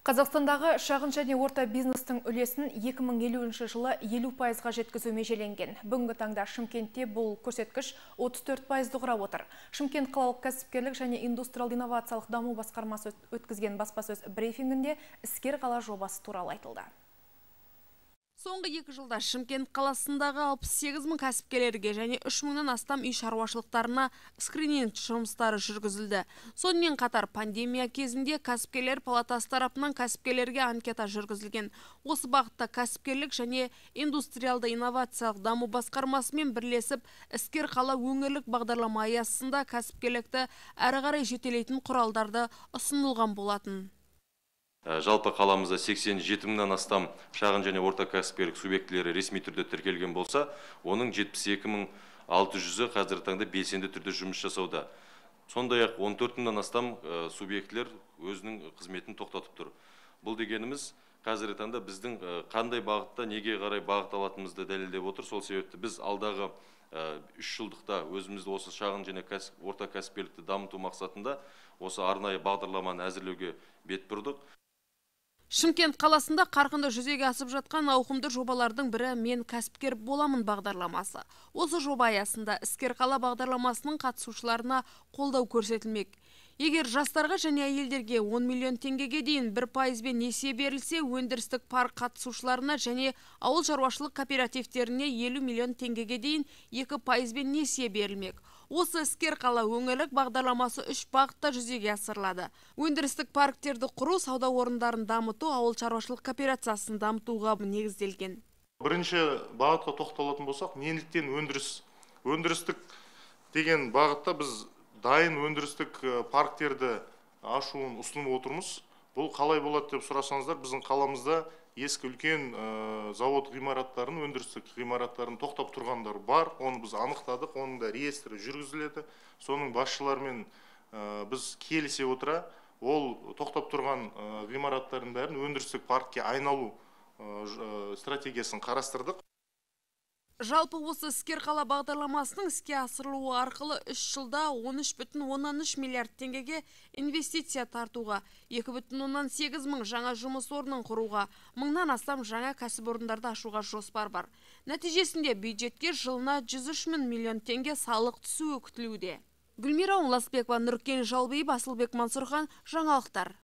Қазақстандағы шағын және орта бизнестің үлесін 2050 жылы 50%-ға жеткізу межеленген. Бүгінгі таңда Шымкентте бұл көрсеткіш 34%-ды құрап отыр. Шымкент қалалық кәсіпкерлік және индустриалды инновациялық даму басқармасы өткізген баспасөз брифингінде іскер қала жобасы туралы айтылды. Соңғы 2 жылда Шымкент қаласындағы 68 мың кәсіпкерлерге және 3 мыңнан астам үй шаруашылықтарына скрининг жұмыстары жүргізілді. Сонымен қатар пандемия кезінде кәсіпкерлер палатасы тарапынан кәсіпкерлерге анкета жүргізілген. Осы бағытта кәсіпкерлік және индустриалды инновациялық даму басқармасымен бірлесіп іскер қала өңірлік бағдарлама аясында кәсіпкерлікті әрі қарай жетелейтін құралдарды ұсынылған болатын. Жалпы қаламызда 87 мыңнан астам шағын және орта кәсіпкерлік субъектілері ресми түрде тіркелген болса, оның 72.600-і қазіргі таңда белсенді түрде жұмыс жасауда. Сондай-ақ 14 мыңнан астам субъектілер өзінің қызметін тоқтатып тұр. Бұл дегеніміз қазіргі таңда біздің қандай бағытта, неге қарай бағыт алатынымызды дәлелдеп отыр. Сол себепті біз алдағы 3 жылдықта өзімізді осы шағын және орта кәсіпкерлікті дамыту мақсатында осы арнайы бағдарламаны әзірлеуге бет бұрдық. Шымкент қаласында қарқынды жүзеге асып жатқан ауқымды жобалардың бірі «Мен кәсіпкер боламын» бағдарламасы. Осы жоба аясында іскер қала бағдарламасының қатысушыларына қолдау көрсетілмек. Егер жастарға және әйелдерге 10 миллион теңгеге дейін 1%-бен несие берілсе, өндірістік парк қатысушыларына және ауыл шаруашылық кооперативтеріне 50 миллион теңгеге дейін 2%-бен несие берілмек. Осы іскер қала өңірлік бағдарламасы 3 бағытта жүзеге асырылады. Өндірістік парктерді құру, сауда орындарын дамыту, ауыл шаруашылық кооперациясын дамытуға негізделген. Бірінші бағытқа тоқталатын болсақ, неліктен өндірістік деген бағытта біз дайын өндірістік парктерді ашуын ұсынып отырмыз. Бұл қалай болады деп сұрасаңыздар, біздің қаламызда ескі үлкен завод ғимараттарын, өндірістік ғимараттарын тоқтап тұрғандар бар. Оны біз анықтадық, оның да реестрі жүргізіледі. Соның басшыларымен біз келісе отыра, ол тоқтап тұрған ғимараттардың бәрін өндірістік паркке айналу стратегиясын қарастырдық. Жалпы осы іскер қала бағдарламасының іске асырылуы арқылы 3 жылда 13,3 миллиард теңгеге инвестиция тартуға, 2,8 мың жаңа жұмыс орнын құруға, 1000-нан астам жаңа кәсіпорындарды ашуға жоспар бар. Нәтижесінде бюджетке жылына 103 миллион теңге салық түсуі күтілуде. Гүлмира Оңласбекова, Нұркен Жалбиев, Асылбек Мансұрхан, жаңалықтар.